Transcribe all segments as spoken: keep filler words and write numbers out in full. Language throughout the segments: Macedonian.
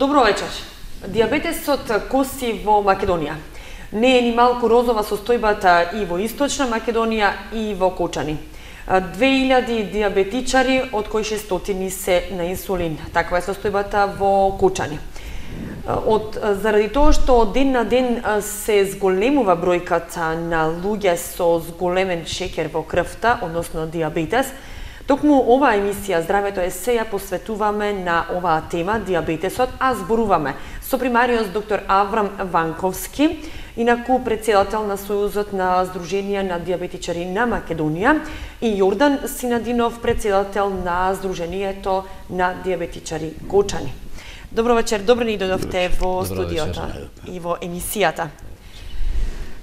Добро вечер. Диабетесот коси во Македонија. Не е ни малку розова состојбата и во Источна Македонија и во Кочани. две илјади диабетичари, од кои шестстотини се на инсулин. Таква е состојбата во Кочани. Од, заради тоа што од ден на ден се зголемува бројката на луѓе со зголемен шеќер во крвта, односно диабетес, токму оваа емисија Здравето е се ја посветуваме на оваа тема, диабетесот, а зборуваме со примариот доктор Аврам Ванковски, инаку председател на Сојузот на Сдруженија на диабетичари на Македонија, и Јордан Синадинов, председател на Сдруженијето на диабетичари Кочани. Добро вечер, добро ни дојдовте во студиото и во емисијата.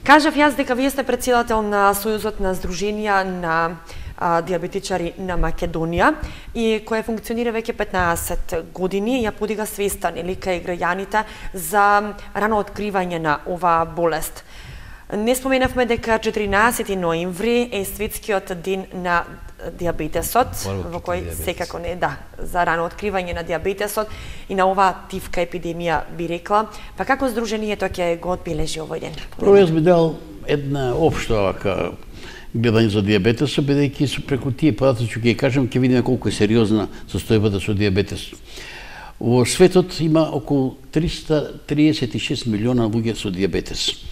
Кажав јас дека вие сте председател на Сојузот на Сдруженија на а, диабетичари на Македонија и која функционира веќе петнаесет години, ја подига свеста нели кај граѓаните за рано откривање на оваа болест. Не споменавме дека четиринаесети ноември е светскиот ден на диабетесот, во кој секако не да, за рано откривање на диабетесот и на оваа тивка епидемија би рекла. Па како Сдруженијето ќе го одбележи овој ден? Прво јас би дал една општа вака гледање за диабетесот, бидејќи со преку тие податоци ќе ги кажам, ќе видиме колку е сериозна состојбата со диабетес. Во светот има околу триста триесет и шест милиона луѓе со диабетес.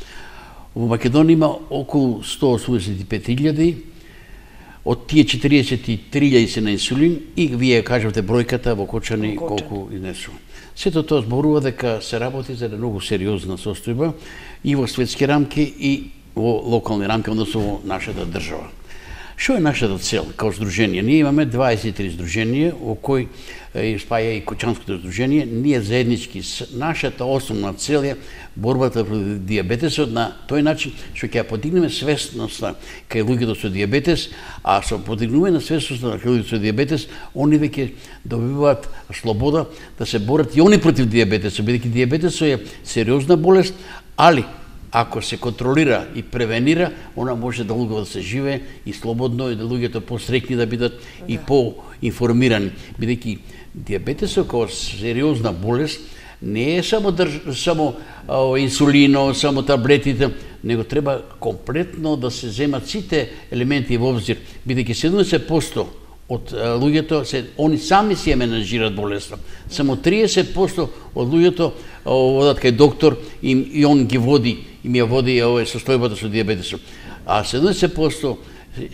Во Македонија има околу сто осумдесет и пет илјади, од тие четириесет и три илјади се на инсулин и вие кажавте бројката во Кочани колку изнесува. Сето тоа зборува дека се работи за една многу сериозна состојба и во светски рамки и во локални рамки, односно во нашата држава. Што е нашата цел као здружение? Ние имаме дваесет и три здруженија, во кој спаја и Кочанското здружение. Ние заеднички, нашата основна цел е борбата против диабетесот на тој начин што ќе ја подигнеме свесноста кај луѓето со диабетес, а со подигнување на свесноста на луѓето со диабетес, они веќе добиваат слобода да се борат и они против диабетесот, бидејќи диабетесот е сериозна болест, али ако се контролира и превенира, она може да луѓето да се живее и слободно и да луѓето посрекни да бидат да. И поинформирани, бидејќи диабетесот како сериозна болест не е само држ... само о, инсулино, само таблетите, него треба комплетно да се земат сите елементи во обзир, бидејќи седумдесет проценти од луѓето се они сами си ја менажираат болеста. Само триесет проценти од луѓето одат кај доктор и, и он ги води, им ја води овој состојбата со диабетесот. А седумдесет проценти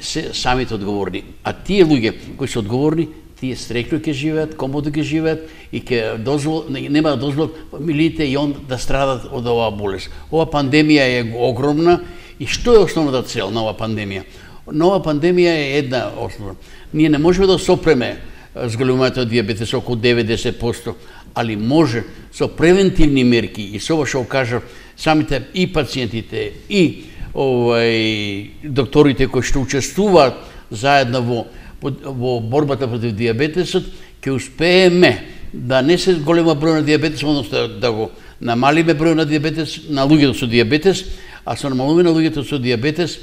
се самите одговорни. А тие луѓе кои се одговорни, тие стрекно ќе живеат, комодно ќе живеат и ќе дозвол, нема да дозволат фамилиите и он да страдат од оваа болест. Ова пандемија е огромна и што е основната цел на оваа пандемија? Нова пандемија е една основа. Ние не можеме да сопреме зголемувањето од диабетес околу деветдесет проценти, али може со превентивни мерки и со ова што кажав, самите и пациентите и овај докторите кои што учествуваат заедно во во борбата против диабетесот, ќе успееме да не се голема број на диабетес, односно да го намалиме број на диабетес, на луѓето со диабетес, а со намалување на луѓето со диабетес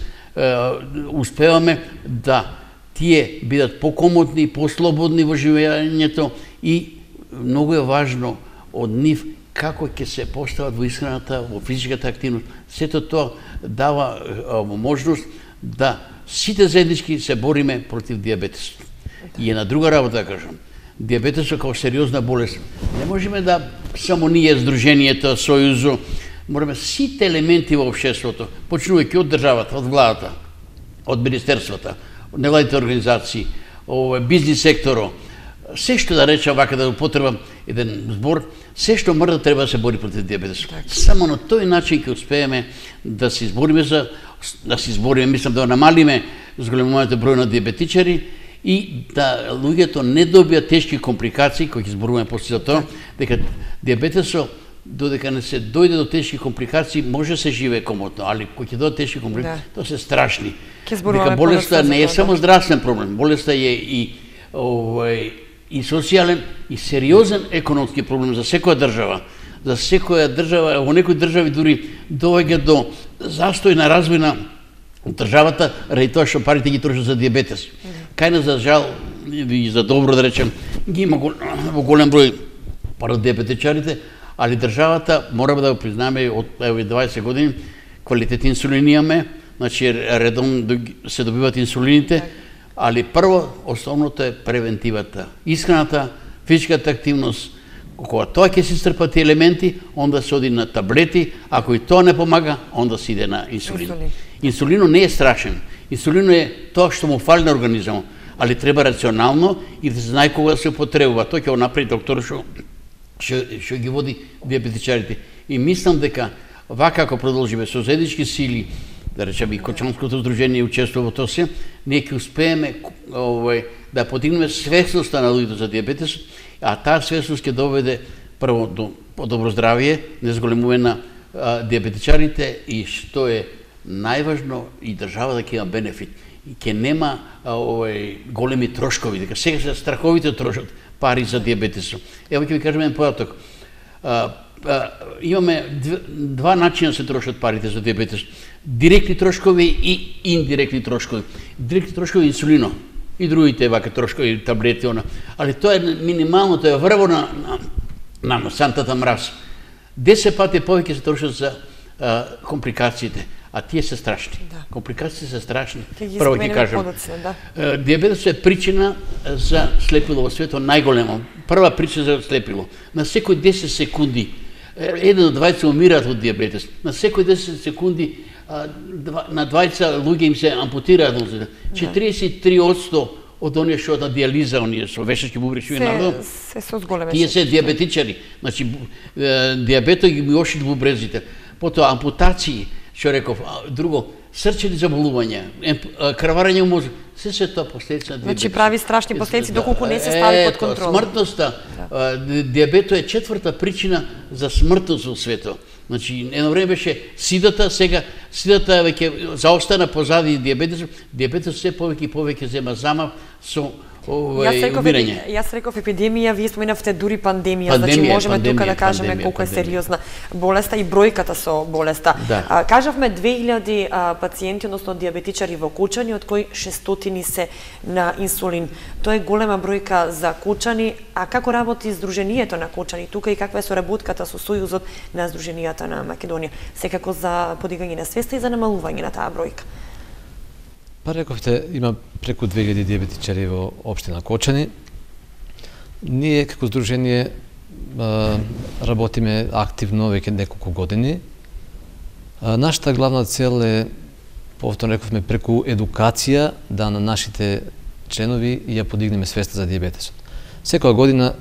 успеваме да тие бидат покомотни, послободни во живењето и многу е важно од нив како ќе се постават во исхраната, во физичката активност. Сето тоа дава можност да сите заеднички се бориме против диабетесот. И една друга работа да кажам. Диабетесот како сериозна болест. Не можеме да само ние здруженијето, Сојузо, мораме сите елементи во општеството, почнувајќи од државата, од владата, од министерствата, од невладите организации, овој бизнис секторо, се што да речам вака да употребам еден збор, се што мора да треба да се бори против диабетесот. Само на тој начин ќе успееме да се избориме за да се избориме, мислам да намалиме зголемувањето број на диабетичари и да луѓето не добијат тешки компликации, кои ќе зборуваме после за тоа, дека диабетесот додека не се дојде до тешки компликации, може се живее комотно, али кои ќе дојдат тешки компликации, да. Тоа се страшни. Дека болеста не е само здравствен проблем, болеста е и овој и социјален и сериозен економски проблем за секоја држава. За секоја држава, во некои држави дури доаѓа до застој на развој на државата, ради тоа што парите ги трошат за диабетес. Кај нас, за жал и за добро да речем, ги има во голем број парат диабетичарите, али државата, мораме да го признаме, од еве дваесет години, квалитет инсулин имаме, значи редовно се добиват инсулините, али прво, основното е превентивата. Исхраната, физичката активност, кога тоа ќе се стрпат елементи, онда се оди на таблети, ако и тоа не помага, онда се иде на инсулин. Инсулин. Инсулино не е страшен. Инсулино е тоа што му фали на организмот, али треба рационално и да се знае кога да се употребува. Тоа ќе го направи доктор што што ги води диабетичарите. И мислам дека вака ако продолжиме со заеднички сили, да речеме и Кочанското здружение учествува во тоа се, ние ќе успееме овој да подигнеме свесноста на луѓето за диабетес, а таа свесност ќе доведе прво до подобро здравје, незголемување на а, диабетичарите и што е најважно и држава да ќе има бенефит. И ќе нема а, овој големи трошкови, дека сега се страховите трошат пари за диабетесот. Ево ќе ви кажам еден податок. А, а, имаме дв, два начина се трошат парите за диабетес. Директни трошкови и индиректни трошкови. Директни трошкови инсулино и другите вака трошкови таблети она. Али тоа е минимално, тоа е врво на на, на сантата мраз. десет пати повеќе се трошат за а, компликациите. А тие се страшни. Да. Компликациите се страшни. Прво ќе кажам. Да. Диабетесот е причина за слепило во светот најголемо. Прва причина за слепило. На секој десет секунди еден од двајца умираат од диабетес. На секој десет секунди на двајца луѓе им се ампутираат нозите. четириесет и три одсто од оние што на диализа, оние со вешачки бубречни надолу, се со зголеме. Тие се диабетичари. Значи диабетот ги миоши бубрезите. Потоа ампутации, што реков, друго, срчени заболувања, крварење у мозок, се се тоа последици на диабетот. Значи прави страшни последици доколку не се стави под контрола. Смртноста, диабетот е четврта причина за смртност во светот. Значи, едно време беше сидата, сега сидата веќе заостана позади диабетесот. Диабетесот се повеќе и повеќе зема замав со умирање. Јас реков епидемија, вие споменавте дури пандемија, пандемија значи можеме пандемија, тука да кажеме пандемија, колку е сериозна болеста и бројката со болеста. Да. А, кажавме две илјади а, пациенти, односно диабетичари во Кучани, од кои шестстотини се на инсулин. Тоа е голема бројка за Кучани, а како работи Сдруженијето на Кучани тука и каква е соработката со Сојузот на Сдруженијата на Македонија, секако за подигање на свеста и за намалување на таа бројка? Па рековте, има преку две илјади диабетичари во општина Кочани. Ние како здружение а, работиме активно веќе неколку години. А, нашата главна цел е, повторно рековме, преку едукација да на нашите членови ја подигнеме свеста за диабетесот. Секоја година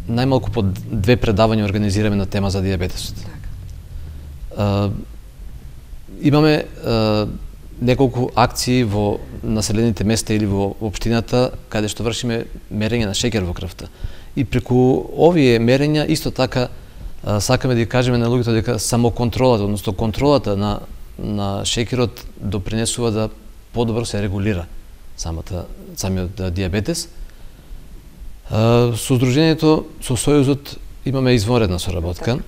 најмалку по две предавања организираме на тема за диабетесот. А, имаме а, неколку акции во населените места или во општината каде што вршиме мерење на шеќер во крвта. И преку овие мерења исто така а, сакаме да кажеме на луѓето дека самоконтролата, односно контролата на на шеќерот допринесува да подобро се регулира самата самиот диабетес. А, со Сдруженијето, со Сојузот имаме извонредна соработка. Так.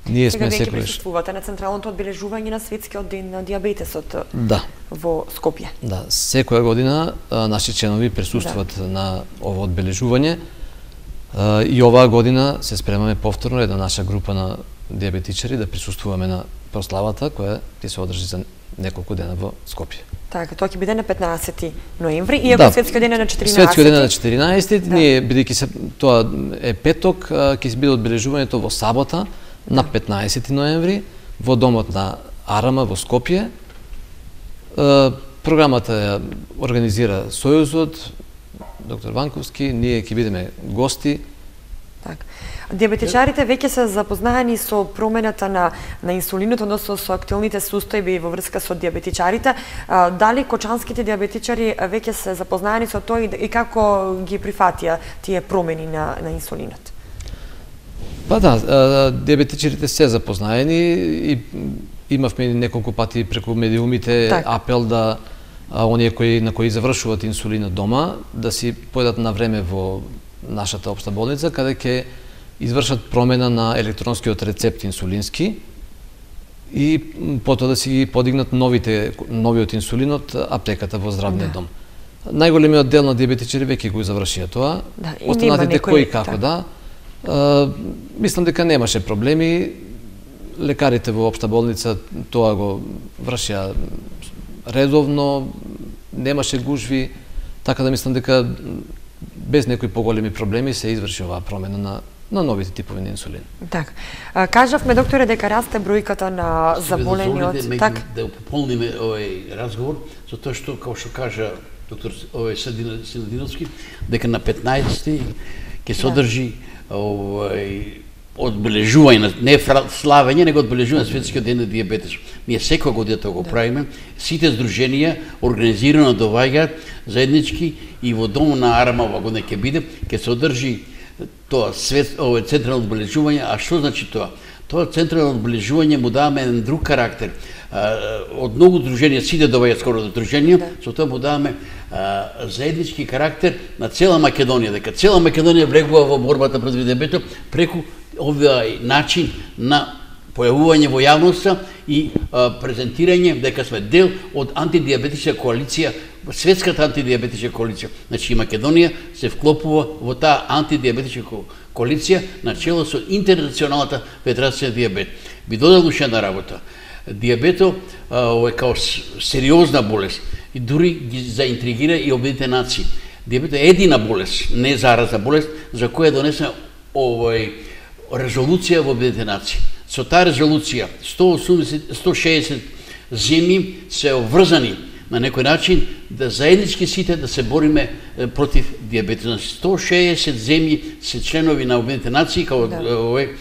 Ние сме секогаш. Сега веќе присуствувате на централното одбележување на светскиот ден на диабетесот да. Во Скопје. Да, секоја година а, наши членови присуствуваат да. На ово одбележување а, и оваа година се спремаме повторно една наша група на диабетичари да присуствуваме на прославата која ќе се одржи за неколку дена во Скопје. Така, тоа ќе биде на петнаесети ноември, иако да. Светскиот ден е на четиринаесети. Светскиот ден е на четиринаесети, да. Ние бидејќи се тоа е петок, ќе се биде одбележувањето во сабота на петнаесети ноември во домот на Арама во Скопје. Програмата ја организира Сојузот, доктор Ванковски, ние ќе бидеме гости. Так. Диабетичарите веќе се запознаени со промената на на инсулинот, односно со актуелните состојби во врска со диабетичарите. А, дали кочанските диабетичари веќе се запознаени со тоа и како ги прифатија тие промени на на инсулинот? Па да, диабетичарите се запознаени и имавме неколку пати преку медиумите так. Апел да а, оние кои на кои завршуваат инсулинот дома да си појдат на време во нашата општа болница каде ќе извршат промена на електронскиот рецепт инсулински и потоа да си ги подигнат новите новиот инсулин од аптеката во здравниот да. Дом. Најголемиот дел на диабетичари веќе го завршија тоа. Да, останатите кои како да. А, мислам дека немаше проблеми. Лекарите во општа болница тоа го вршија редовно, немаше гужви, така да мислам дека без некои поголеми проблеми се изврши оваа промена на на новите типови на инсулин. Така. Кажавме, докторе, дека расте бројката на заболени од... Так. Да пополниме овој разговор, затоа што, како што кажа доктор овој Синадиновски, дека на петнаесети ќе се одржи овој одбележување, не славење, него одбележување на светскиот ден на дијабетес. Ние секоја година тоа го правиме. Сите здруженија организирано доаѓаат заеднички и во домот на Арама ова година ќе биде, ќе се одржи тоа свет, овој централно одбележување. А што значи тоа? Тоа централно одбележување му даваме еден друг карактер. Од многу здруженија, сите доаѓаат скоро до здруженија, да. Со тоа му даваме а, заеднички карактер на цела Македонија, дека цела Македонија влегува во борбата против дијабетот преку овој начин на појавување во јавноста и а, презентирање дека сме дел од антидијабетичка коалиција, светската антидијабетичка коалиција. Значи Македонија се вклопува во таа антидијабетичка коалиција на чело со Интернационалната федерација дијабет. Би додал уште една работа. Дијабето е као сериозна болест и дури ги заинтригира и Обединетите нации. Дијабето е едина болест, не заразна болест, за која е донесена овој резолуција во Обединетите нации. Со таа резолуција сто осумдесет сто шеесет земји се обврзани на некој начин да заеднички сите да се бориме против дијабетот. сто шеесет земји се членови на Обединетите нации, као да. Овој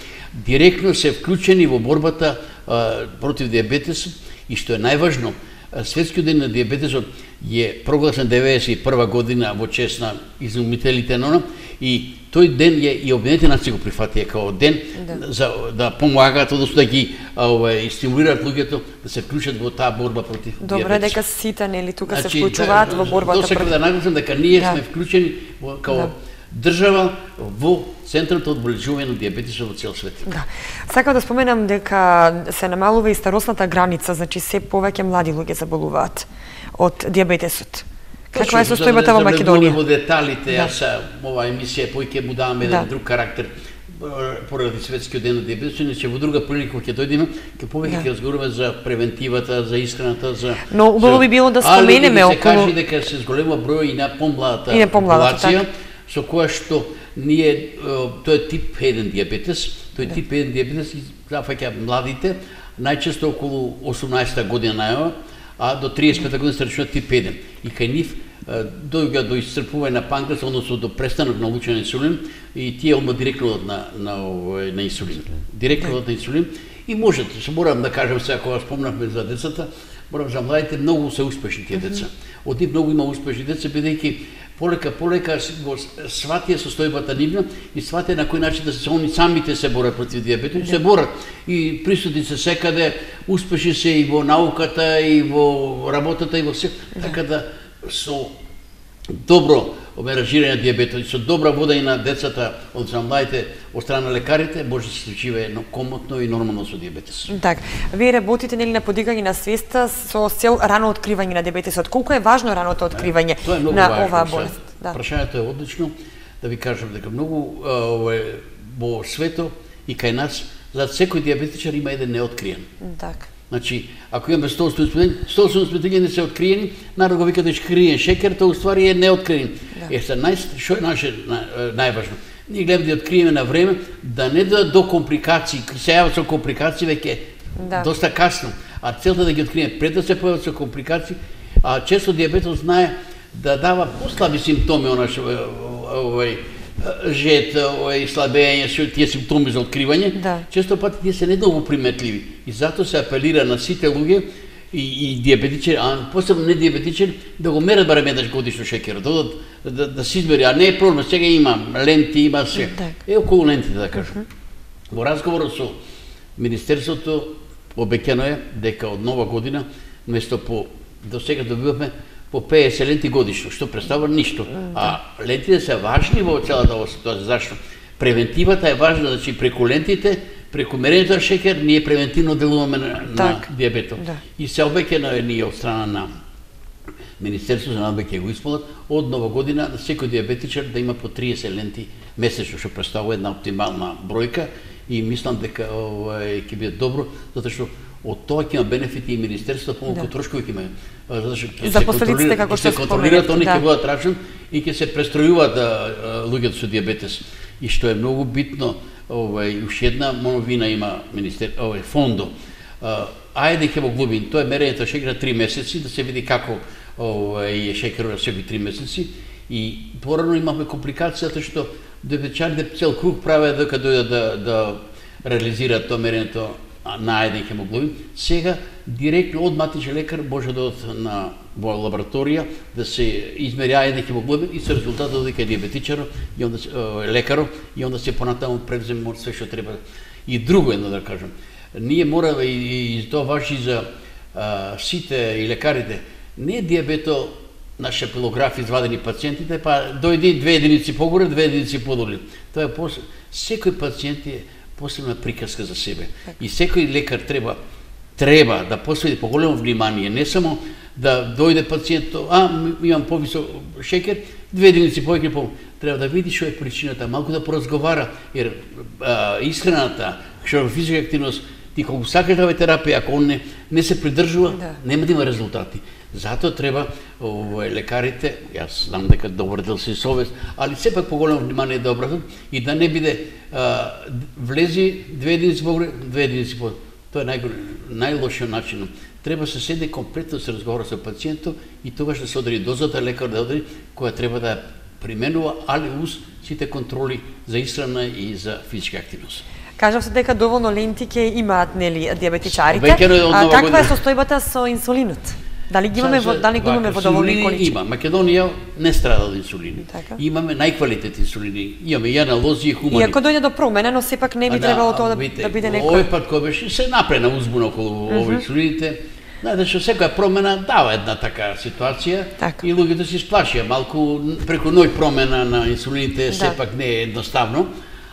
директно се вклучени во борбата а, против дијабетесот и што е најважно, светскиот ден на дијабетесот е прогласен деветдесет и прва година во чест на изумителите на она и тој ден е и Обединетите нации го прифатија као ден да. За да помагаат, односно да ги овој стимулираат луѓето да се вклучат во таа борба против дијабетесот. Добро, дека сите нели тука значи, се вклучуваат да, во борбата против. Тоа да нагласам дека ние да. Сме вклучени во, као да. Држава во централното одбележување на дијабетесот во цел свет. Да. Сакам да споменам дека се намалува и старосната граница, значи се повеќе млади луѓе заболуваат од дијабетесот. Каква е состојбата во Македонија? Во деталите, да. Јас оваа емисија поиќе му давам еден да. Друг карактер поради светскиот ден на дијабетесот, иначе во друга прилика ќе дојдеме, ќе повеќе ќе да. Разговаруваме за превентивата, за исхраната, за но убаво би било да споменеме околу. Али се кажи дека се зголема број и на помладата популација, со која што ние тој е тип еден дијабетес, тој да. Тип еден дијабетес зафаќа младите, најчесто околу осумнаесетта година најава, а до триесет и пета година се рачуна тип еден. И кај нив дојга до исцрпување на панкреас, односно до престанок на лучен инсулин и тие одма директно одат на на овој на инсулин. Директно одат на инсулин и можете, се морам да кажам сега кога спомнавме за децата, морам за младите многу се успешни тие деца. Од нив многу има успешни деца бидејќи полека полека го сватија состојбата нивна и сватија на кој начин да се они самите се борат против дијабетот и се борат и присутни се секаде, успешни се и во науката и во работата и во се, така да со добро оберажирање на дијабетот и со добра водење на децата од младите од страна на лекарите може да се живее комотно и нормално со дијабетес. Така, вие работите нели на подигање на свеста со цел рано откривање на дијабетесот. Колку е важно раното откривање е, на оваа болест? Да. Прашањето е одлично, да ви кажам дека многу овој во свето и кај нас за секој дијабетичар има еден неоткриен. Така. Значи, ако имаме сто осумдесет не се откриени, народ го вика да криен шекер, тоа уствари е неоткриен. Да. Е, са нај, шо е наше најважно? Ние гледаме да откриеме на време, да не да до компликации, се јават со компликации веќе да. Доста касно, а целта да ги откриеме пред да се појават со компликации, а често дијабетот знае да дава послаби симптоми, онаш, овој, жет, овој, слабење, тие симптоми за откривање, да. Често пати тие се недолго приметливи. И затоа се апелира на сите луѓе и, и дијабетичари, а посебно не дијабетичари, да го мерат барем еднаш годишно шекерот, да, да, да се измери, а не е проблем, сега има ленти, има се. Е околу лентите, да кажам. Uh -huh. Во разговорот со Министерството обеќано е дека од нова година, место по, до сега добиваме по петдесет ленти годишно, што представува ништо. А лентите се важни во целата оваа ситуација. Зашто? Превентивата е важна, значи преку лентите, преку мерењето на шекер, ние превентивно делуваме на, на дијабетот. Да. И се обеќано е ние од страна на Министерството за надбе ќе го исполнат од нова година на секој диабетичар да има по триесет ленти месечно, што представува една оптимална бројка и мислам дека овај ќе биде добро, затоа што од тоа ќе има бенефити и Министерството, помалку да. Трошкови ќе има. Затоа што ќе се контролира, како што се контролираат, они ќе да. Бидат рачен и ќе се престројуваат луѓето со диабетес. И што е многу битно, овај уште една новина има министер, овај фондо. Ајде хемоглобин, тоа е мерењето шекер три месеци, да се види како овај е шекерот секои три месеци. И порано имавме компликација затоа што диабетичарите цел круг правеа дека дојдат да да реализираат тоа мерењето на еден хемоглобин. Сега директно од матичен лекар може да одат на во лабораторија да се измери еден хемоглобин и со резултатот дека е диабетичарот и онда лекарот и онда се понатаму превзема све што треба. И друго едно да кажам. Ние мораме и, и тоа важи за а, сите и лекарите. Не е диабето на шапилограф извадени пациентите, па дојди две единици погоре, две единици подоле. Тоа е после. Секој пациент е посебна приказка за себе. И секој лекар треба треба да посвети поголемо внимание, не само да дојде пациентот, а имам повисок шекер, две единици повеќе по. Треба да види што е причината, малку да поразговара, ер а, исхраната, што физичка активност, ти колку сакаш да ве терапија, ако он не, не се придржува, да. Нема да има резултати. Затоа треба овој лекарите, јас знам дека добар дел се совест, али сепак поголемо внимание да обратат и да не биде а, влези две единици погоре, две единици по. Тоа е нај најлошиот начин. Треба се седе комплетно се разговара со пациентот и тогаш да се одреди дозата, лекар да одреди која треба да применува, али уз сите контроли за исхрана и за физичка активност. Кажав се дека доволно ленти ќе имаат нели диабетичарите. А каква е состојбата со инсулинот? Дали ги имаме во, дали го имаме во доволни количини? Има. Македонија не страда од инсулини. Така. Имаме најквалитетни инсулини. Имаме и аналози и хумани. Иако дојде до промена, но сепак не би а, требало да, тоа да, да биде некој. Овој пат кој беше се напрена узбуна околу uh -huh. овој инсулините. Знаете што секоја промена дава една така ситуација така. И луѓето се сплашија малку преку ној промена на инсулините да. Сепак не е едноставно.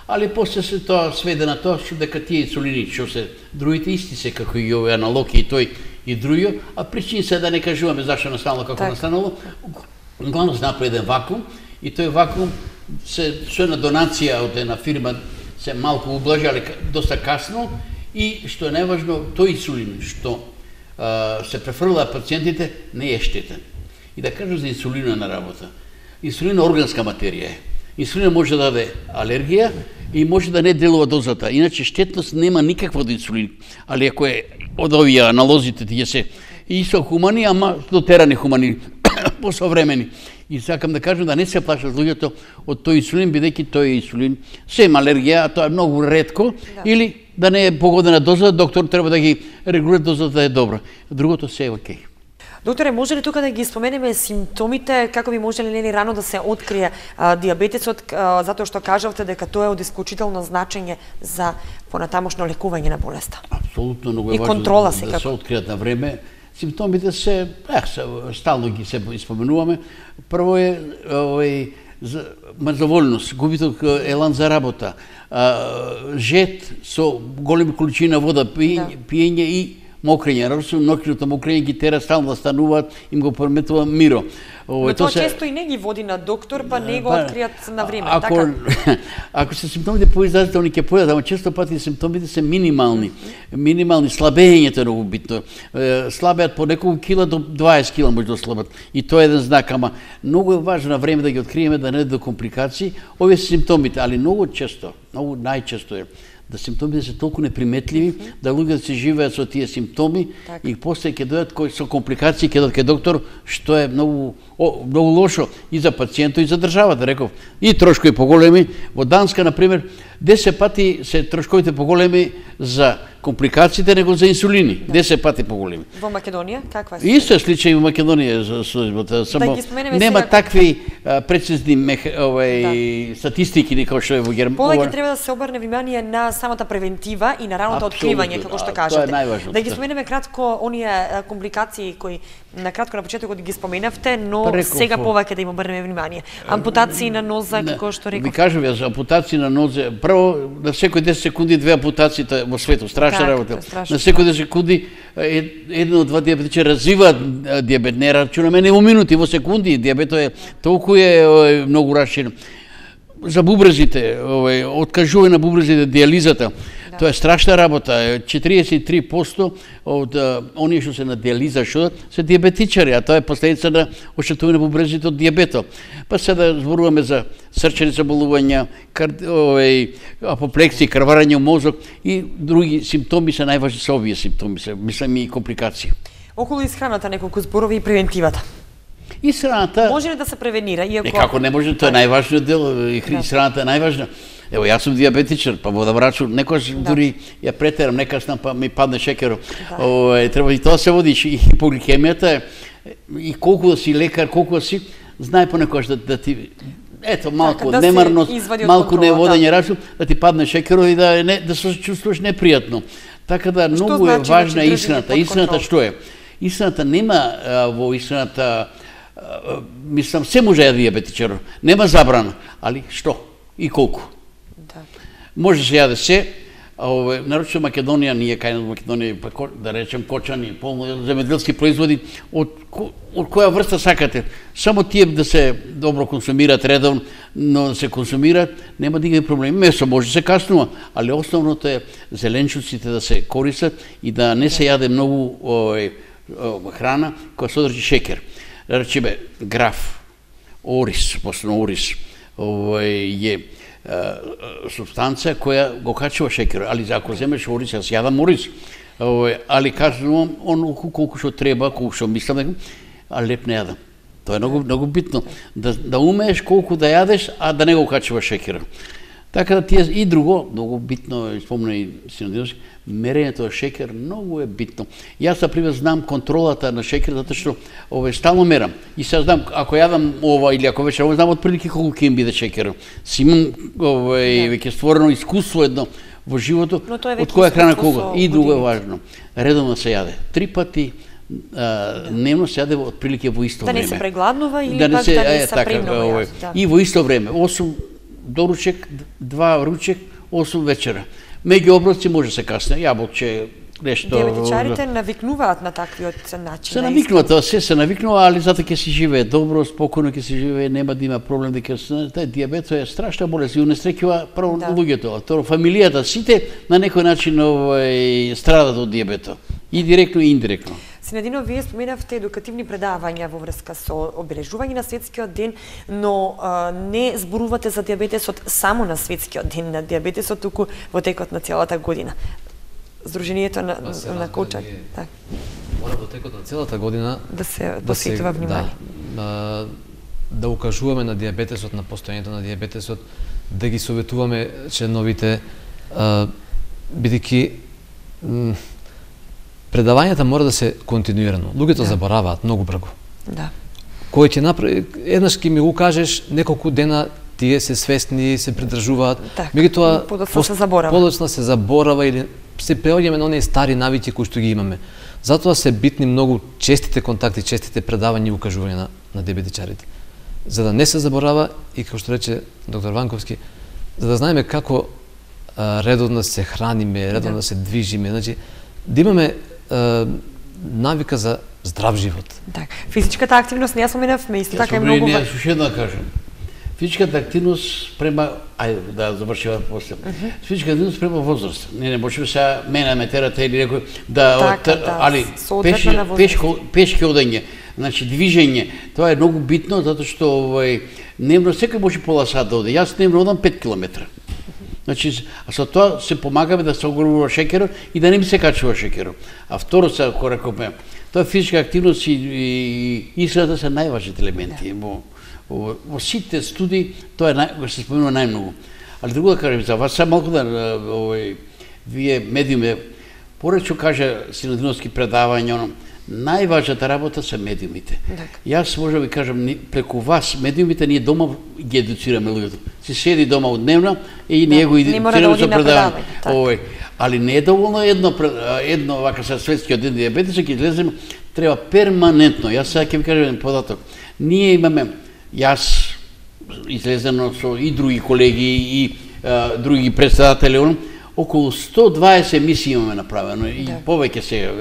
Али после се тоа сведе на тоа што дека тие инсулини што се другите исти се како и овој аналог и тој и друго, а причини се да не кажуваме зашто настанало како так. Настанало. Главно се направи еден вакуум и тој вакуум се со една донација од една фирма се малку ублажи, али доста касно и што е најважно, тој инсулин што а, се префрлаа пациентите не е штетен. И да кажам за инсулина на работа. Инсулин е органска материја е. Инсулин може да даде алергија и може да не делува дозата. Иначе штетност нема никаква од инсулин. Али ако е од овие аналозите тие се исто хумани, ама дотерани хумани, посовремени. И сакам да кажам да не се плашат луѓето од тој инсулин, бидејќи тој инсулин се има алергија, а тоа е многу ретко, да. Или да не е погодена доза, доктор треба да ги регулира дозата да е добра. Другото се е окей. Докторе, може ли тука да ги споменеме симптомите, како би можеле нели рано да се открие а, диабетесот, а, затоа што кажавте дека тоа е од исклучително значење за понатамошно лекување на болеста? Апсолутно, многу е важно контрола да, да се откријат на време. Симптомите се, ех, стално ги се испоменуваме. Прво е овој мрзоволност, губиток елан за работа, а, жет со големи количини на вода, пиење, да. Пиење и мокрење, различно ноќното мокрење ги тера стално да стануваат, им го прометува миро. Но тоа се... често и не ги води на доктор, па не го откријат на време, ако, така? Ако се симптомите поизразителни ќе појадат, ама често пати симптомите се минимални. Минимални, слабењето е многу битно. Слабеат по неколку кила до дваесет кила може да ослабат. И тоа е еден знак, ама многу е важно на време да ги откриеме, да не до компликации. Овие се симптомите, али многу често, многу најчесто е да симптомите се толку неприметливи, mm -hmm. да луѓето се живеат со тие симптоми так. И после ќе дојдат кои со компликации, ќе дојдат кај доктор, што е многу о, многу лошо и за пациентот и за државата, реков. И трошкови поголеми. Во Данска, на пример, десет пати се трошковите поголеми за компликациите него за инсулини. Да. десет пати поголеми. Во Македонија каква е? Исто случај во Македонија за службата, само да нема сега... такви а, прецизни мех... овај да. Статистики како што е во Германија. Повеќе треба да се обрне внимание на самата превентива и на раното откривање, како што кажете. Да ги споменеме кратко оние компликации кои на кратко на почетокот ги споменавте, но Преко, сега повеќе да им обрнеме внимание. Ампутации на ноза, како што реков. Ви кажав ја за ампутации на нозе, прво на секој десет секунди две ампутации во светот, страшна Так, работа. тоа е страшно, На секој десет секунди едно од два диабетичари развиваат диабет, не рачунаме не во минути, во секунди. Диабетот е толку е многу раширен. За бубрезите, овој откажување на бубрезите, диализата. Да. Тоа е страшна работа. четириесет и три проценти од оние што се на диализа што се диабетичари, а тоа е последица на оштетување на бубрезите од диабетот. Па сега да зборуваме за срчени заболувања, кар... овој апоплексија, крварење во мозок и други симптоми се најважни се овие симптоми, се мислам и компликации. Околу исхраната неколку зборови и превентивата. Исхраната може ли да се превенира иако Е како не може, тоа е најважниот дел, и исхраната е најважна. Ево, јас сум диабетичар, па во да врачу, некојаш да. дури ја претерам, некаснам, па ми падне шекерот. Да. О, е, треба и тоа се води, и хипогликемијата, и колку да си лекар, колку да си, знае понекојаш да, да ти, ето, малку да немарност, малку неводење да. рачу, да ти падне шекерот и да, не, да се чувствуваш непријатно. Така да, што многу значи, е важна значи, исхраната. Исхраната што е? Исхраната нема а, во исхраната, мислам, се може да диабетичар, нема забрана, али што и колку. Да. Може се јаде се, ове нарочно Македонија, ние кај нас Македонија, па да речем кочани, полно земјоделски производи, од од која врста сакате. Само тие да се добро консумираат редовно, но да се консумираат, нема да има проблеми. Месо може се каснува, али основното е зеленчуците да се користат и да не се јаде многу ове храна која содржи шекер. Речеме граф, ориз, посебно ориз, овој е субстанција која го качува шекер, али ако земеш ориз, јас јадам ориз, али кажувам он колку што треба, колку што мислам, а леп не јадам. Тоа е многу многу битно, да да умееш колку да јадеш, а да не го качуваш шекерот. Така да тие и друго, многу битно, спомна и Синодиновски, мерењето на шекер многу е битно. Јас на пример знам контролата на шекер затоа што овој стално мерам. И сега знам ако јадам ова или ако вечерам знам отприлики колку ќе им биде шекерот. Си имам овој веќе створено искуство едно во животот од која храна кога. И друго е важно. Редовно се јаде. Три пати Uh, дневно се јаде отприлики во исто да време. Да не се пregladнува или да не пак се, да не е, се така, премногу јаде. Да. И во исто време, осум доручек, два ручек, осум вечера. Меѓу оброци може се касне, јаболче, нешто. Диабетичарите навикнуваат на таквиот начин. Се навикнуваат, тоа се се навикнува, али затоа ќе си живее добро, спокојно ќе си живее, нема да има проблем дека тај диабетот е страшна болест и унесреќува прво да. луѓето, второ фамилијата, сите на некој начин овој страдат од диабетот. И директно и индиректно. Синедино, вие споменавте едукативни предавања во врска со обележување на светскиот ден, но а, не зборувате за диабетесот само на светскиот ден на диабетесот, туку во текот на целата година. Здруженијето на, на коучани. Так. Мора во текот на целата година да се посветува да внимание. Да, да укажуваме на диабетесот, на постојањето на диабетесот, да ги советуваме членовите, бидејќи предавањата мора да се континуирано. Луѓето да. забораваат многу брзо. Да. Кој ќе направи, еднаш ќе ми го кажеш, неколку дена тие се свесни, се придржуваат. Меѓутоа подоцна се заборава. Подоцна се заборава или се преоѓаме на оние стари навици кои што ги имаме. Затоа се битни многу честите контакти, честите предавања и укажување на, на диабетичарите. За да не се заборава и како што рече доктор Ванковски, за да знаеме како а, редовно се храниме, редовно да. се движиме, значи да имаме а, навика за здрав живот. Так, физичката активност не ја споменавме, исто така е многу важно. Јас уште да кажам. Физичката активност према, ајде да завршиме после. Uh -huh. Физичката активност према возраст. Не не можеме сега мене ме терате или некој да, така, от, да али пешки пешко пешки одење, значи движење, тоа е многу битно затоа што овој дневно секој може пола сат да оде. Јас дневно одам пет километра. Значи, а со тоа се помагаме да се огранува шекерот и да не ми се качува шекерот. А второ се ако рекоме, тоа физичка активност и, и исхраната се најважните елементи. Да. Во, во, во сите студии тоа е нај, се споменува најмногу. Али друго да кажем за вас, само малку да овој вие медиуми, поречу кажа Синодиновски предавања, оно, најважната работа се медиумите. Так. Јас може да ви кажам, преку вас, медиумите, ние дома ги едуцираме луѓето. Се седи дома одневно и ние да, го едуцираме со предавање. Овој, али не е доволно едно едно вака со светскиот ден диабетес, ќе излеземе, треба перманентно. Јас сега ќе ви кажам податок. Ние имаме, јас излезено со и други колеги и други председатели, он, околу сто дваесет емисии имаме направено и да. Повеќе се,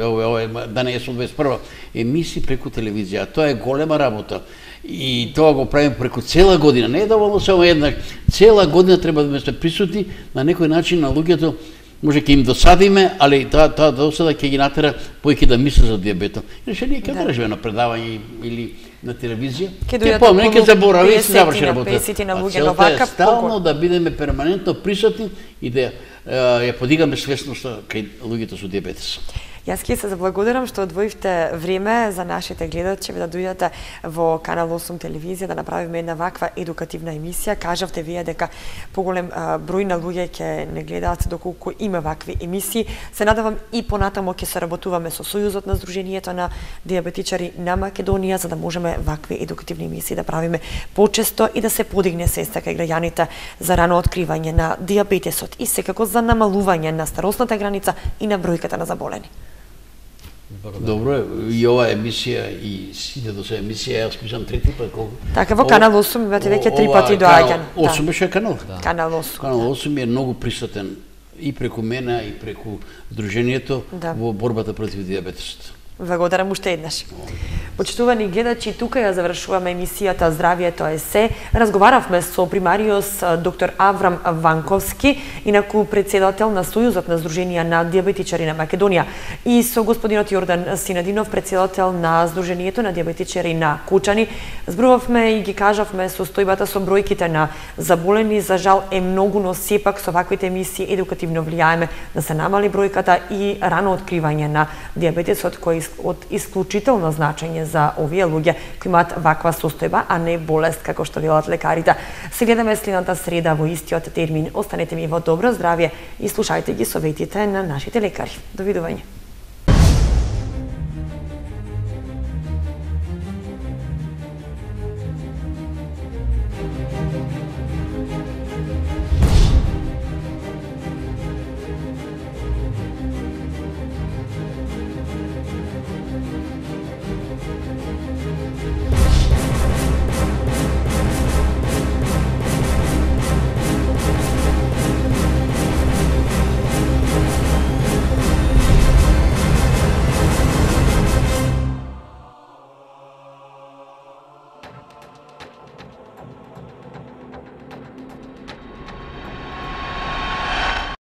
да не е со дваесет и прва, емисии преку телевизија. Тоа е голема работа. И тоа го правиме преку цела година. Не е доволно само една. Цела година треба да сме присутни на некој начин на луѓето. Може ќе им досадиме, али таа таа досада ќе ги натера повеќе да мислат за дијабетот. Иначе ние ќе да. Држиме на предавање или на телевизија. Ќе помне, ќе заборави и се заврши работа. Целта е стално да бидеме перманентно присутни и да ја подигаме свесноста кај луѓето со дијабетес. Јас ќе се заблагодарам што одвоивте време за нашите гледачи да дојдете во Канал осум телевизија да направиме една ваква едукативна емисија. Кажавте вие дека поголем број на луѓе ќе не гледаат доколку има вакви емисии. Се надевам и понатамо ќе се работуваме со Сојузот на Сдруженијето на дијабетичари на Македонија за да можеме вакви едукативни емисии да правиме почесто и да се подигне свеста кај граѓаните за рано откривање на дијабетесот и секако за намалување на старосната граница и на бројката на заболени. Добро е, и ова емисија и сите до се емисија, јас мислам трети пат колку. Така, во Канал осум имате веќе три пати доаѓање. осум беше канал. Канал осум. Канал осум е многу присутен и преку мене и преку Сдруженијето во борбата против дијабетесот. Благодарам уште еднаш. Почитувани гледачи, тука ја завршуваме емисијата Здравието е се. Разговаравме со примариус доктор Аврам Ванковски, инаку председател на Сојузот на Сдруженија на дијабетичари на Македонија, и со господинот Јордан Синадинов, председател на Сдруженијето на дијабетичари на Кучани. Зборувавме и ги кажавме состојбата со бројките на заболени. За жал е многу, но сепак со ваквите емисии едукативно влијаеме да се намали бројката и рано откривање на дијабетесот, кој од исклучително значење за овие луѓе кои имаат ваква состојба, а не болест, како што велат лекарите. Се гледаме следната среда во истиот термин. Останете ми во добро здравје и слушајте ги советите на нашите лекари. Довидување.